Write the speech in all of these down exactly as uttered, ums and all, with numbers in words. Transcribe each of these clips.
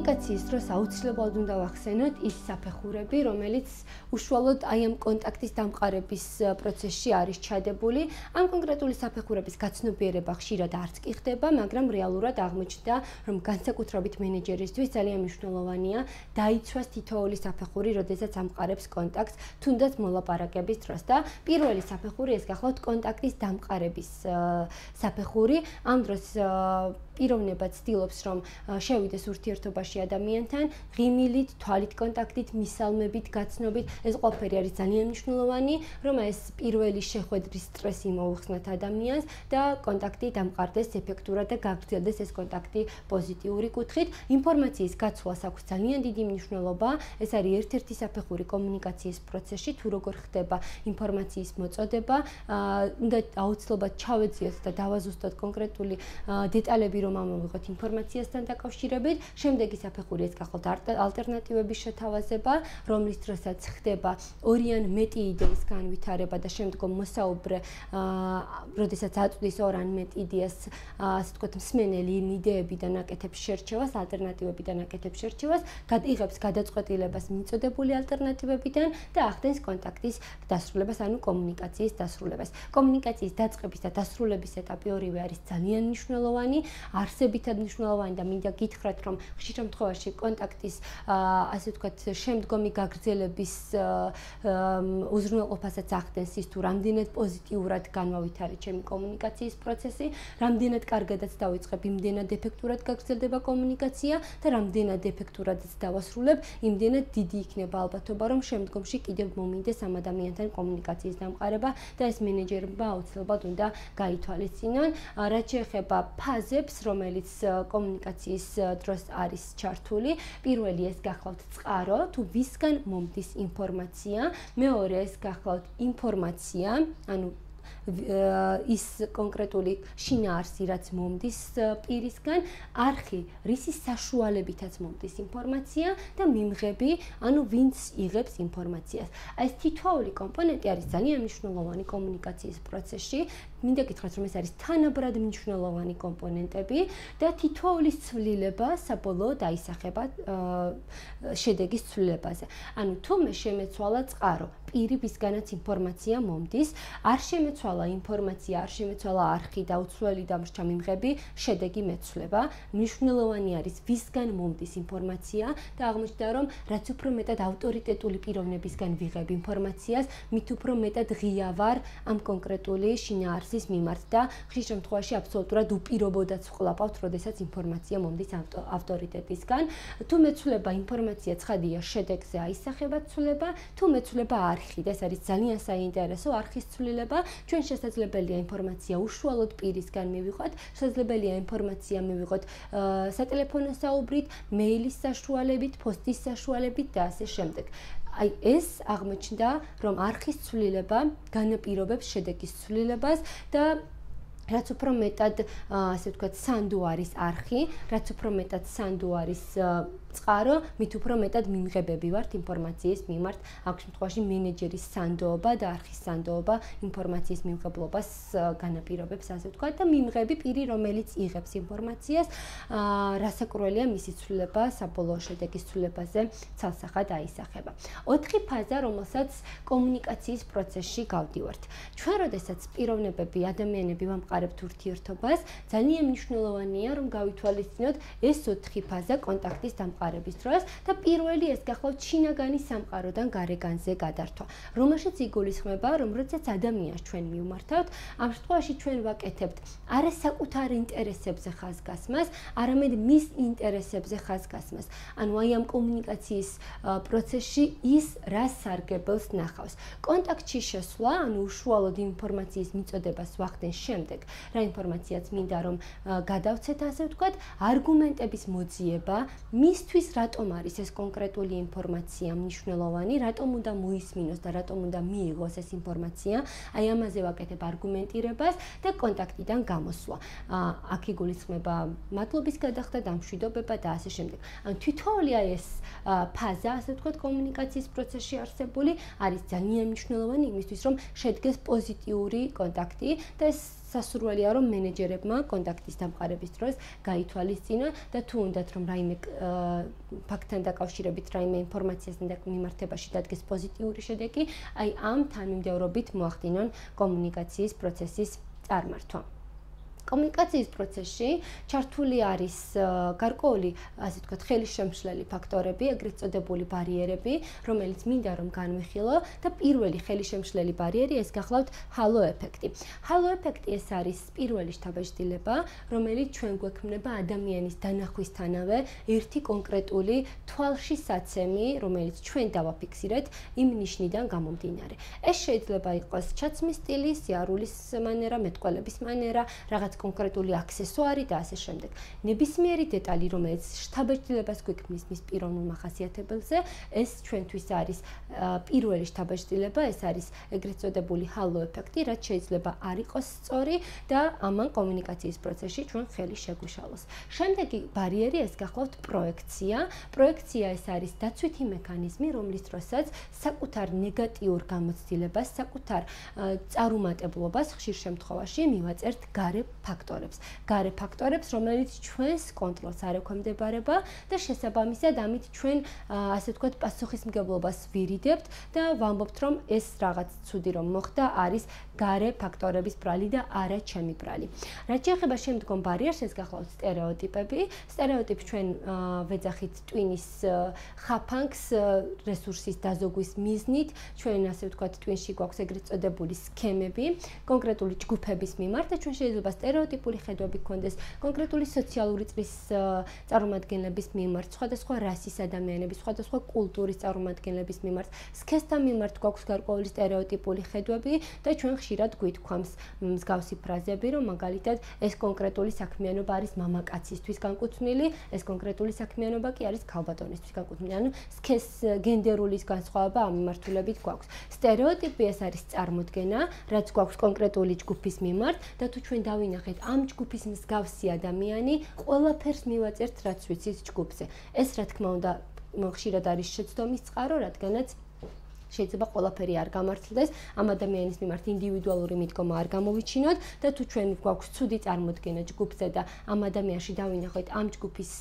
კომუნიკაციის დროს აუცილებლად უნდა ვახსენოთ ის საფეხურები, რომელიც უშუალოდ აი ამ კონტაქტის დამყარების პროცესში არის ჩადებული. ამ კონკრეტული საფეხურების გაცნობიერება ხშირად არც კი ხდება, მაგრამ რეალურად აღმოჩნდა, რომ განსაკუთრებით მენეჯერისთვის ძალიან მნიშვნელოვანია დაიცვას თითოეული საფეხური, როდესაც ამყარებს კონტაქტს, თუნდაც მოლაპარაკების დროს და პირველი საფეხური ეს გახლავთ კონტაქტის დამყარების საფეხური. ამ დროს პიროვნება ცდილობს, რომ შევიდეს ურთიერთობაში ადამიანთან, ღიმილით, თვალით კონტაქტით, მისალმებით, გაცნობით. ეს ყველაფერი არის ძალიან მნიშვნელოვანი, რომ ეს პირველი შეხვედრის სტრესი მოუხსნათ ადამიანს და კონტაქტი დამყარდეს ეფექტურად და გაგრძელდეს ეს კონტაქტი პოზიტიური კუთხით. ინფორმაციის გაცვლას აქვს ძალიან დიდი მნიშვნელობა. ეს არის ერთ-ერთი საფეხური კომუნიკაციის პროცესში, თუ როგორ ხდება ინფორმაციის მოწოდება, უნდა აუცილებლად ჩავეძიოთ და დავაზუსტოთ კონკრეტული დეტალები, რომ ამოვიღოთ ინფორმაციასთან დაკავშირებით. შემდეგი საფეხური ეს გახლავთ ალტერნატივების შეთავაზება, რომლის დროსაც ხდება ორი ან მეტი იდეის განვითარება და შემდგომ მოსაუბრე, როდესაც აწვდის ორ ან მეტ იდეას, ასე ვთქვათ, მსმენელი იმ იდეებიდან აკეთებს შერჩევას, ალტერნატივებიდან აკეთებს შერჩევას, იღებს გადაწყვეტილებას მიწოდებული ალტერნატივებიდან და ახდენს კონტაქტის დასრულებას, ანუ კომუნიკაციის დასრულებას. კომუნიკაციის დაწყების და დასრულების ეტაპი ორივე არის ძალიან მნიშვნელოვანი, არსებითად მნიშვნელოვანი და მინდა გითხრათ, რომ ხშირ შემთხვევაში კონტაქტის, ასე ვთქვათ, შემდგომი გაგრძელების უზრუნველყოფასაც ახდენს ის, თუ რამდენად პოზიტიურად განმავითარეთ ჩემი კომუნიკაციის პროცესი, რამდენად კარგადაც დავიწყებ, იმდენად ეფექტურად გაგრძელდება კომუნიკაცია და რამდენად ეფექტურადაც დავასრულებ, იმდენად დიდი იქნება ალბათობა, რომ შემდგომში კიდევ მომინდეს ამ ადამიანთან კომუნიკაციის დამყარება და ეს მენეჯერმა აუცილებლად უნდა გაითვალისწინონ. რაც შეეხება ფაზებს, რომელიც კომუნიკაციის დროს არის ჩართული, პირველი ეს გახლავთ წყარო, თუ ვისგან მომდის ინფორმაცია, მეორე ეს გახლავთ ინფორმაცია, ანუ ის კონკრეტული შინაარსი, რაც მომდის პირისგან, არხი, რისი საშუალებითაც მომდის ინფორმაცია და მიმღები, ანუ ვინც იღებს ინფორმაციას. ეს თითოეული კომპონენტი არის ძალიან მნიშვნელოვანი კომუნიკაციის პროცესში. მინდა გითხრათ, რომ ეს არის თანაბრად მნიშვნელოვანი კომპონენტები და თითოეულის ცვლილება საბოლოოდ აისახება შედეგის ცვლილებაზე. ანუ თუ მე შემეცვალა წყარო, პირი, ვისგანაც ინფორმაცია მომდის, არ შემეცვალა ინფორმაცია, არ შემეცვალა არხი და უცვლელი დამრჩა მიმღები, შედეგი მეცვლება. მნიშვნელოვანი არის ვისგან მომდის ინფორმაცია და აღმოჩნდა, რომ რაც უფრო მეტად ავტორიტეტული პიროვნებისგან ვიღებ ინფორმაციას, მით უფრო მეტად ღია ვარ ამ კონკრეტული შინაარსის მიმართ და ხშირ შემთხვევაში აბსოლუტურად უპირობოდაც ვყლაპავთ, როდესაც ინფორმაცია მომდის ავტორიტეტისგან. თუ მეცვლება ინფორმაცია ცხადია, შედეგზე აისახება ცვლილება, თუ მეცვლება არხი და ეს არის ძალიან საინტერესო არხის ცვლილება, ჩვენ შესაძლებელია ინფორმაცია უშუალოდ პირისგან მივიღოთ, შესაძლებელია ინფორმაცია მივიღოთ სატელეფონო საუბრით, მეილის საშუალებით, პოსტის საშუალებით და ასე შემდეგ. აი ეს აღმოჩნდა, რომ არხის ცვლილება განაპირობებს შედეგის ცვლილებას და რაც უფრო მეტად, ასე ვთქვათ, სანდო არის არხი, რაც უფრო მეტად სანდო არის წყარო, მით უფრო მეტად მიმღებები ვართ ინფორმაციის მიმართ. ამ შემთხვევაში მენეჯერის სანდოობა და არხის სანდოობა ინფორმაციის მიმღებლობას განაპირობებს, ასე ვთქვათ, და მიმღები პირი, რომელიც იღებს ინფორმაციას, რასაკურველია მისი ცვლილება საბოლოო შედეგის ცვლილებაზე ცალსახად აისახება. ოთხი ფაზა, რომელსაც კომუნიკაციის პროცესში გავდივართ. ჩვენ, როდესაც პიროვნებები, ადამიანები ვამყარებთ ურთიერთობას, ძალიან მნიშვნელოვანია, რომ გავითვალისწინოთ ეს ოთხი ფაზა კონტაქტის დამყარების დროს და პირველი ეს გახლავთ შინაგანი სამყაროდან გარეგანზე გადართვა, რომელშიც იგულისხმება, რომ როდესაც ადამიანს ჩვენ მივმართავთ, ამ შემთხვევაში ჩვენ ვაკეთებთ არა საკუთარ ინტერესებზე ხაზგასმას, არამედ მის ინტერესებზე ხაზგასმას. ანუ აი ამ კომუნიკაციის პროცესში ის რა სარგებელს ნახავს. კონტაქტში შესვლა, ანუ უშუალოდ ინფორმაციის მიწოდებას ვახდენს შემდეგ, რა ინფორმაციაც მინდა რომ გადავცეთ, ასე ვთქვათ, არგუმენტების მოძიება, მისთვის რატომ არის ეს კონკრეტული ინფორმაცია მნიშვნელოვანი, რატომ უნდა მოისმინოს და რატომ უნდა მიიღოს ეს ინფორმაცია, აი ამაზე ვაკეთებ არგუმენტირებას და კონტაქტიდან გამოსვლა. აქ იგულისხმება მადლობის გადახდა, დამშვიდობება და ასე შემდეგ. ანუ თითოეული აი ეს ფაზა, ასე ვთქვათ, კომუნიკაციის პროცესში არსებული არის ძალიან მნიშვნელოვანი იმისთვის, რომ შედგეს პოზიტიური კონტაქტი და ეს სასურველია რომ მენეჯერებმა კონტაქტის დამყარების დროს გაითვალისწინონ და თუ უნდათ რომ რაიმე ფაქტთან დაკავშირებით რაიმე ინფორმაციასთან მიმართებაში დადგეს პოზიტიური შედეგი, აი ამ თანმიმდევრობით მოახდინონ კომუნიკაციის პროცესის წარმართვა. კომუნიკაციის პროცესში ჩართული არის გარკვეული, ასე ვთქვათ, ხელისშემშლელი ფაქტორები, ეგრეთ წოდებული ბარიერები, რომელიც მინდა რომ განვიხილო და პირველი ხელისშემშლელი ბარიერი ეს გახლავთ ჰალო ეფექტი. ჰალო ეფექტი ეს არის პირველი შთაბეჭდილება, რომელიც ჩვენ გვექმნება ადამიანის დანახვისთანავე ერთი კონკრეტული თვალში საცემი, რომელიც ჩვენ დავაფიქსირეთ იმ ნიშნიდან გამომდინარე. ეს შეიძლება იყოს ჩაცმის სტილი, სიარულის მანერა, მეტყველების მანერა, რაღაც კონკრეტული აქსესუარი და ასე შემდეგ. ნებისმიერი დეტალი, რომელიც შთაბეჭდილებას გვექმნის მის პიროვნულ მახასიათებელზე, ეს ჩვენთვის არის პირველი შთაბეჭდილება, ეს არის ეგრეთ წოდებული ჰალო ეფექტი, რაც შეიძლება არ იყოს სწორი და ამან კომუნიკაციის პროცესში ჩვენ ხელი შეგვიშალოს. შემდეგი ბარიერი ეს გახლავთ პროექცია. პროექცია ეს არის დაცვითი მექანიზმი, რომლის დროსაც საკუთარ ნეგატიურ გამოცდილებას, საკუთარ წარუმატებლობას ხშირ შემთხვევაში მივაწერთ გარე ფაქტორებს. გარე ფაქტორებს, რომელიც ჩვენს კონტროლს არ ექვემდებარება და შესაბამისად ამით ჩვენ ასე ვთქვათ პასუხისმგებლობას ვირიდებთ და ვამბობთ რომ ეს რაღაც ცუდი რომ მოხდა არის გარე ფაქტორების ბრალი და არა ჩემი ბრალი. რაც შეეხება შემდგომ ბარიერს, ეს გახლავთ სტერეოტიპები. სტერეოტიპი ჩვენ ვეძახით ტვინის ხაფანგს რესურსის დაზოგვის მიზნით, ჩვენ ასე ვთქვათ ტვინში გვაქვს ეგრეთ წოდებული სქემები კონკრეტული ჯგუფების მიმართ და ჩვენ შეიძლება სტერეოტიპული ხედვები გქონდეს კონკრეტული სოციალური წრის წარმომადგენლების მიმართ, სხვადასხვა რასის ადამიანების, სხვადასხვა კულტურის წარმომადგენლების მიმართ, სქესთან მიმართ გვაქვს გარკვეული სტერეოტიპული ხედვები და ჩვენ ხშირად გვითქვამს მსგავსი ფრაზები, რომ მაგალითად ეს კონკრეტული საქმიანობა არის მამაკაცისთვის განკუთვნილი, ეს კონკრეტული საქმიანობა კი არის ქალბატონისთვის განკუთვნილი. ანუ სქეს გენდერული განსხვავება ამ მიმართულებით გვაქვს. სტერეოტიპი ეს არის წარმოდგენა, რაც გვაქვს კონკრეტული ჯგუფის მიმართ და თუ ჩვენ დავინახეთ ამ ჯგუფის მსგავსი ადამიანი, ყველაფერს მივაწერთ, რაც ვიცით ჯგუფზე. ეს რა თქმა უნდა ხშირად არის შეცდომის წყარო, რადგანაც შეიძლება ყველაფერი არ გამართლდეს, ამ ადამიანის მიმართ ინდივიდუალური მიდგომა არ გამოვიჩინოთ და თუ ჩვენ გვაქვს ცუდი წარმოდგენა ჯგუფზე და ამ ადამიანში დავინახოთ ამ ჯგუფის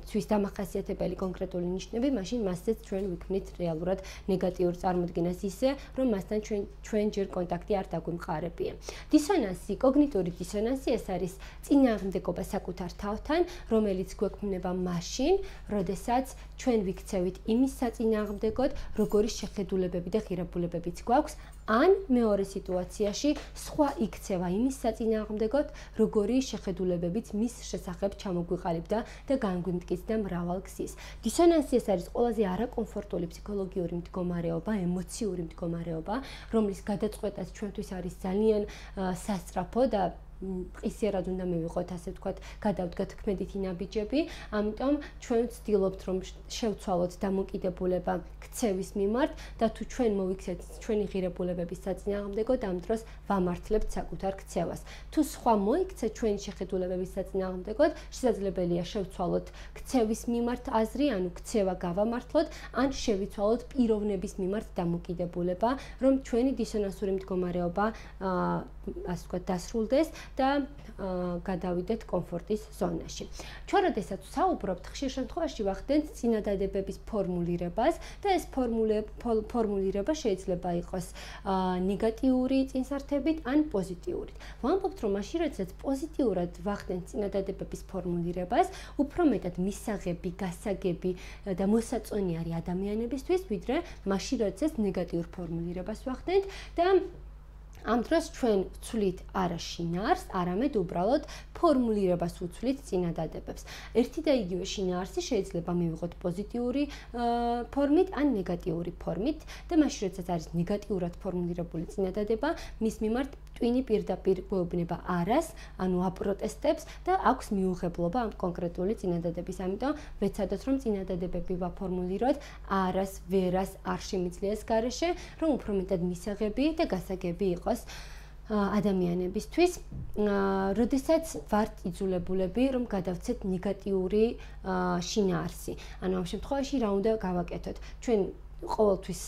თვის დამახასიათებელი კონკრეტული ნიშნები, მაშინ მასზეც ჩვენ ვიქმნით რეალურად ნეგატიურ წარმოდგენას ისე, რომ მასთან ჩვენ ჩვენ ჯერ კონტაქტი არ დაგვიმყარებია. დისონანსი, კოგნიტური დისონანსი ეს არის წინააღმდეგობა საკუთარ თავთან, რომელიც გვექმნება მაშინ, როდესაც ჩვენ ვიქცევით იმის საწინააღმდეგოდ, როგორი შეხედულებები და ღირებულებებიც გვაქვს, ან მეორე სიტუაციაში სხვა იქცევა იმის საწინააღმდეგოდ, როგორი შეხედულებებიც მის შესახებ ჩამოგვიყალიბდა და განგვიმტკიცდა მრავალ გზის. დისონანსი ეს არის ყველაზე არაკომფორტული ფსიქოლოგიური მდგომარეობა, ემოციური მდგომარეობა, რომლის გადაწყვეტაც ჩვენთვის არის ძალიან სასწრაფო და ყისიერად უნდა მივიღოთ, ასე ვთქვათ, გადავდგათ ქმედითი ნაბიჯები, ამიტომ ჩვენ ვცდილობთ, რომ შევცვალოთ დამოკიდებულება ქცევის მიმართ და თუ ჩვენ მოვიქცეთ ჩვენი ღირებულებების საწინააღმდეგოდ, ამ დროს ვამართლებთ საკუთარ ქცევას. თუ სხვა მოიქცე ჩვენი შეხედულებების საწინააღმდეგოდ, შესაძლებელია შევცვალოთ ქცევის მიმართ აზრი, ანუ ქცევა გავამართლოთ, ან შევიცვალოთ პიროვნების მიმართ დამოკიდებულება, რომ ჩვენი დისონანსური მდგომარეობა, ასე ვთქვათ, დასრულდეს და გადავიდეთ კომფორტის ზონაში. ჩვენ როდესაც ვსაუბრობთ, ხშირ შემთხვევაში ვახდენთ წინადადებების ფორმულირებას და ეს ფორმულირება შეიძლება იყოს ნეგატიური წინსართებით ან პოზიტიური. ვამბობთ, რომ მაშინ როდესაც პოზიტიურად ვახდენთ წინადადებების ფორმულირებას, უფრო მეტად მისაღები, გასაგები და მოსაწონი არის ადამიანებისთვის, ვიდრე მაშინ როდესაც ნეგატიურ ფორმულირებას ვახდენთ და ამ დროს ჩვენ ვცვლით არა შინაარს, არამედ უბრალოდ ფორმულირებას ვუცვლით წინადადებებს. ერთი და იგივე შინაარსი შეიძლება მივიღოთ პოზიტიური ფორმით ან ნეგატიური ფორმით და მაშინ როდესაც არის ნეგატიურად ფორმულირებული წინადადება, მის მიმართ ტვინი პირდაპირ გვეუბნება არას, ანუ აპროტესტებს და აქვს მიუღებლობა ამ კონკრეტული წინადადების. ამიტომ ვეცადოთ, რომ წინადადებები ვაფორმულიროთ არას, ვერას, არ შემიძლიას გარეშე, რომ უფრო მეტად მისაღები და გასაგები იყოს ადამიანებისთვის, როდესაც ვართ იძულებულები, რომ გადავცეთ ნეგატიური შინაარსი. ანუ ამ შემთხვევაში რა უნდა გავაკეთოთ? ჩვენ ყოველთვის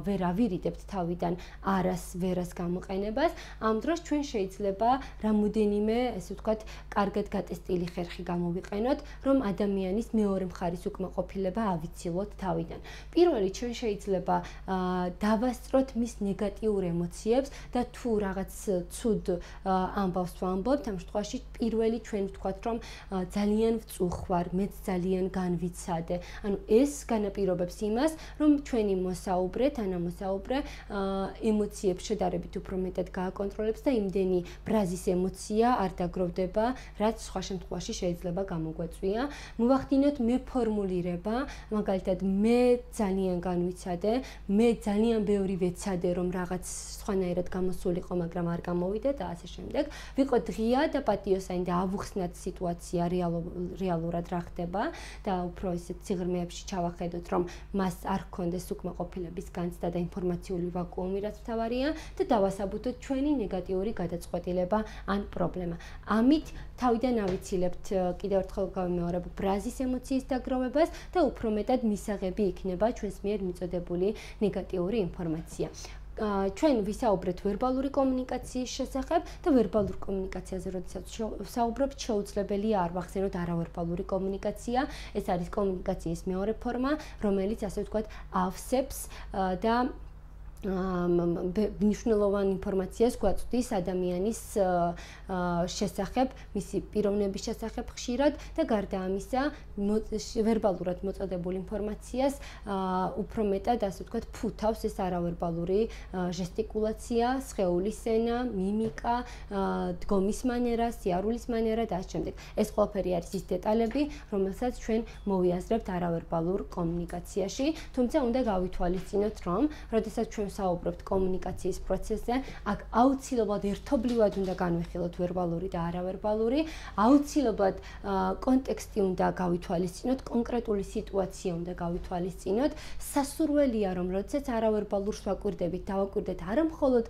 ვერ ავირიდებთ თავიდან არას ვერას გამოყენებას, ამ დროს ჩვენ შეიძლება რამოდენიმე, ესე ვთქვათ, კარგად გატესტილი ხერხი გამოვიყენოთ, რომ ადამიანის მეორე მხარის უკმაყოფილება ავიცილოთ თავიდან. პირველი ჩვენ შეიძლება დავასწროთ მის ნეგატიურ ემოციებს და თუ რაღაც ცუდ ამბავს ვამბობთ, ამ შემთხვევაში პირველი ჩვენ ვთქვათ, რომ ძალიან ვწუხვარ, მეც ძალიან განვიცადე. ანუ ეს განაპირობებს იმას, რომ ჩვენი მოსაუბრე, თანამოსაუბრე ემოციებს შედარებით უფრო მეტად გააკონტროლებს და იმდენი ბრაზის ემოცია არ დაგროვდება, რაც სხვა შემთხვევაში შეიძლება გამოგვეწვია. მოვახდინოთ მეფორმულირება, მაგალითად მე ძალიან განვიცადე, მე ძალიან ბევრი ვეცადე, რომ რაღაც სხვანაირად გამოსულიყო, მაგრამ არ გამოვიდა და ასე შემდეგ. ვიყო ღია და პატიოსანი და ავუხსნათ სიტუაცია რეალურად რა ხდება და უფრო ისეთ სიღრმეებში ჩავახედოთ, რომ მას არ ჰქონდეს უკმაყოფილების განცდა და ინფორმაციული ვაკუუმი, რაც მთავარია და დავასაბუთოთ ჩვენი ნეგატიური გადაწყვეტილება ან პრობლემა. ამით თავიდან ავიცილებთ კიდევ ერთხელ გავიმეორებ ბრაზის ემოციის დაგროვებას და უფრო მეტად მისაღები იქნება ჩვენს მიერ მიწოდებული ნეგატიური ინფორმაცია. ჩვენ ვისაუბრეთ ვერბალური კომუნიკაციის შესახებ და ვერბალურ კომუნიკაციაზე როდესაც ვსაუბრობთ, შეუძლებელია არ ვახსენოთ არავერბალური კომუნიკაცია. ეს არის კომუნიკაციის მეორე ფორმა, რომელიც ასე ვთქვათ ავსებს და მნიშვნელოვან ინფორმაციას გვაწვდის ადამიანის შესახებ, მისი პიროვნების შესახებ ხშირად და გარდა ამისა, ვერბალურად მოწოდებული ინფორმაციას უფრო მეტად, ასე ვთქვათ, ფუთავს ეს არავერბალური ჟესტიკულაცია, სხეულის ენა, მიმიკა, დგომის მანერა, სიარულის მანერა და ასე შემდეგ. ეს ყველაფერი არის ის დეტალები, რომელსაც ჩვენ მოვიაზრებთ არავერბალურ კომუნიკაციაში, თუმცა უნდა გავითვალისწინოთ, რომ როდესაც ჩვენ საუბრობთ კომუნიკაციის პროცესზე, აქ აუცილებლად ერთობლივად უნდა განვიხილოთ ვერბალური და არავერბალური, აუცილებლად კონტექსტი უნდა გავითვალისწინოთ, კონკრეტული სიტუაცია უნდა გავითვალისწინოთ. სასურველია, რომ როდესაც არავერბალურს ვაკვირდებით, დავაკვირდეთ არა მხოლოდ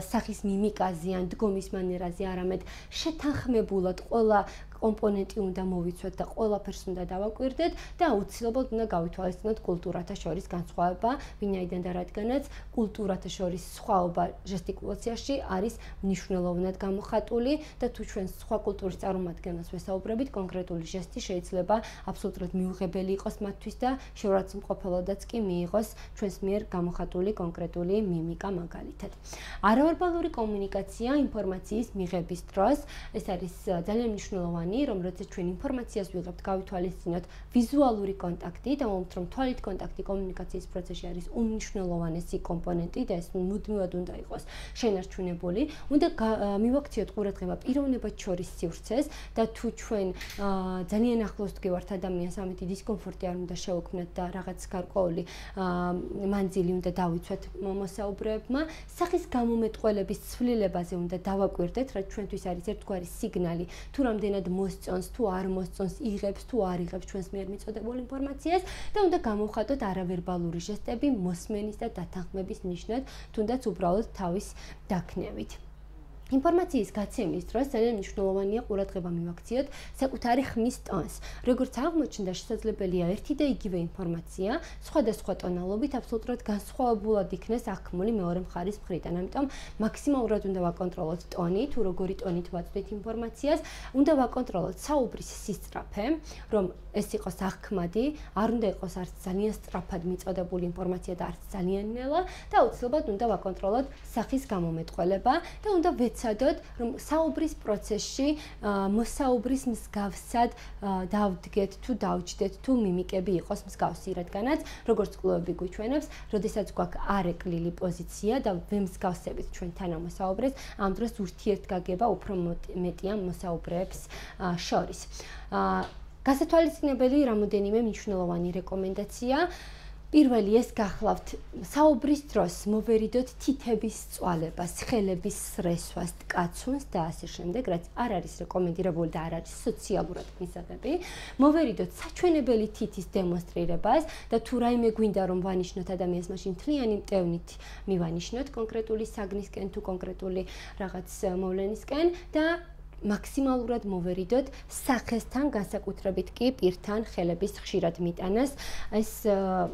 სახის მიმიკაზე ან დგომის მანერაზე, არამედ შეთანხმებულად ყველა კომპონენტი უნდა მოვიცვათ და ყველაფერს უნდა დავაკვირდეთ და აუცილებლად უნდა გავითვალისწინოთ კულტურათა შორის განსხვავება, ვინაიდან და რადგანაც კულტურათა შორის სხვაობა ჟესტიკულაციაში არის მნიშვნელოვნად გამოხატული და თუ ჩვენ სხვა კულტურის წარმომადგენლებს ვესაუბრებით, კონკრეტული ჟესტი შეიძლება აბსოლუტურად მიუღებელი იყოს მათთვის და შეურაცხმყოფელოდაც კი მიიღოს ჩვენს მიერ გამოხატული კონკრეტული მიმიკა მაგალითად. არავერბალური კომუნიკაცია ინფორმაციის მიღების დროს, ეს არის ძალიან მნიშვნელოვანი, რომ როდესაც ჩვენ ინფორმაციას ვიღებთ, გავითვალისწინოთ ვიზუალური კონტაქტი და მომთ რომ თვალით კონტაქტი კომუნიკაციის პროცესში არის უმნიშვნელოვანესი კომპონენტი და ეს მუდმივად უნდა იყოს შენარჩუნებული. უნდა მივაქციოთ ყურადღება პიროვნებად შორის სივრცეს და თუ ჩვენ ძალიან ახლოს ვდგევართ ადამიანს, ამით დისკომფორტი არ უნდა შევქმნათ და რაღაც გარკვეული მანძილი უნდა დავიცვათ მოსაუბრეებმა, სახის გამომეტყველების ცვლილებაზე უნდა დავაკვირდეთ, რაც ჩვენთვის არის ერთგვარი სიგნალი, თუ რამდენად მოსწონს, თუ არ მოსწონს, იღებს, თუ არ იღებს ჩვენს მიერ მიწოდებულ ინფორმაციას და უნდა გამოვხატოთ არავერბალური ჟესტები მოსმენის და დათანხმების ნიშნად, თუნდაც უბრალოდ თავის დაქნევით. ინფორმაციის გაცემის დროს ძალიან მნიშვნელოვანია ყურადღება მივაქციოთ საკუთარი ხმის ტონს. როგორც აღმოჩნდა, შესაძლებელია ერთი და იგივე ინფორმაცია სხვადასხვა ტონალობით აბსოლუტურად განსხვავებულად იქნეს აღქმული მეორე მხარის მხრიდან. ამიტომ მაქსიმალურად უნდა ვაკონტროლოთ ტონი, თუ როგორი ტონით ვაწვდით ინფორმაციას, უნდა ვაკონტროლოთ საუბრის სისწრაფე, რომ ეს იყოს აღქმადი, არ უნდა იყოს არც ძალიან სწრაფად მიწოდებული ინფორმაცია და არც ძალიან ნელა და აუცილებლად უნდა ვაკონტროლოთ სახის გამომეტყველება და უნდა ვეცადოთ, რომ საუბრის პროცესში მოსაუბრის მსგავსად დავდგეთ თუ დავჯდეთ თუ მიმიკები იყოს მსგავსი, რადგანაც როგორც კვლევები გვიჩვენებს, როდესაც გვაქვსარეკლილი პოზიცია და ვემსგავსებით ჩვენ თანამოსაუბრეს, ამ დროს ურთიერთგაგება უფრო მეტია მოსაუბრეებს შორის. გასათვალისწინებელი რამოდენიმე მნიშვნელოვანი რეკომენდაცია. პირველი ეს გახლავთ საუბრის დროს მოვერიდოთ თითების წვალებას, ხელების სრესვას, ტკაცუნს და ასე შემდეგ, რაც არ არის რეკომენდირებული და არ არის სოციალურად მისაღები. მოვერიდოთ საჩვენებელი თითის დემონსტრირებას და თუ რაიმე გვინდა რომ ვანიშნოთ ადამიანს, მაშინ მთლიანი მტევნით მივანიშნოთ კონკრეტული საგნისკენ თუ კონკრეტული რაღაც მოვლენისკენ და მაქსიმალურად მოვერიდოთ სახესთან, განსაკუთრებით კი პირთან ხელების ხშირად მიტანას. ეს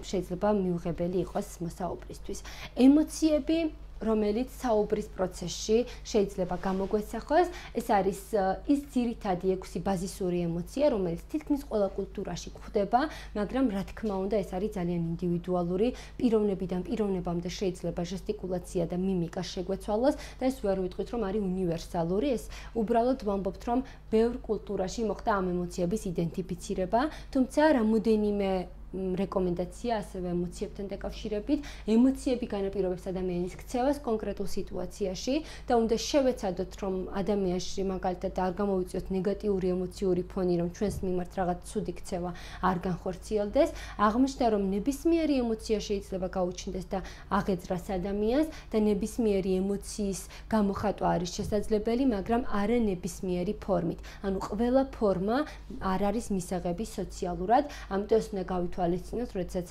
შეიძლება მიუღებელი იყოს მოსაუბრისთვის. ემოციები რომელიც საუბრის პროცესში შეიძლება გამოგვესახოს, ეს არის ის ძირითადი ექვსი ბაზისური ემოცია, რომელიც თითქმის ყველა კულტურაში გვხვდება, მაგრამ რა თქმა უნდა, ეს არის ძალიან ინდივიდუალური, პიროვნებიდან პიროვნებამდე შეიძლება ჟესტიკულაცია და მიმიკა შეგვეცვალოს და ეს ვერ ვიტყვით, რომ არის უნივერსალური, ეს უბრალოდ ვამბობთ, რომ ბევრ კულტურაში მოხდა ამ ემოციების იდენტიფიცირება, თუმცა რამოდენიმე რეკომენდაცია ასევე ემოციებთან დაკავშირებით, ემოციები განაპირობებს ადამიანის ქცევას კონკრეტულ სიტუაციაში და უნდა შევეცადოთ, რომ ადამიანში მაგალითად არ გამოვიწიოთ ნეგატიური ემოციური ფონი, რომ ჩვენს მიმართ რაღაც ცუდი ქცევა არ განხორციელდეს. აღმოჩნდა, რომ ნებისმიერი ემოცია შეიძლება გაუჩნდეს და აღეძრას ადამიანს და ნებისმიერი ემოციის გამოხატვა არის შესაძლებელი, მაგრამ არა ნებისმიერი ფორმით. ანუ ყველა ფორმა არ არის მისაღები სოციალურად, ამიტომ ეს უნდა გავითვალისწინოთ ალისწინოთ, როდესაც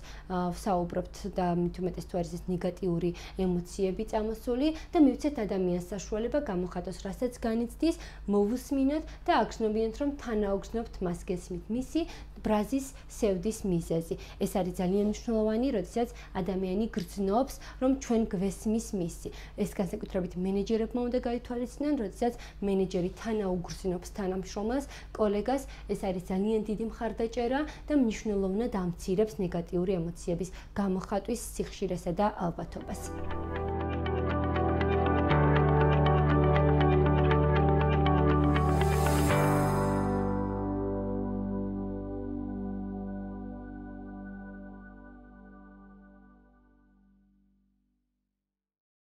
ვსაუბრობთ და მით უმეტეს თუ არის ეს ნეგატიური ემოციები წამოსული და მივცეთ ადამიანს საშუალება გამოხატოს, რასაც განიცდის, მოვუსმინოთ და აგრძნობინოთ, რომ თანაუგრძნობთ მას გესმით მისი ბრაზის სევდის მიზეზი. ეს არის ძალიან მნიშვნელოვანი, როდესაც ადამიანი გრძნობს, რომ ჩვენ გვესმის მისი. ეს განსაკუთრებით მენეჯერებმა უნდა გაითვალისწინონ, როდესაც მენეჯერი თანაუგრძნობს თანამშრომელს, კოლეგას, ეს არის ძალიან დიდი მხარდაჭერა და მნიშვნელოვნად ამცირებს ნეგატიური ემოციების გამოხატვის სიხშირესა და ალბათობას.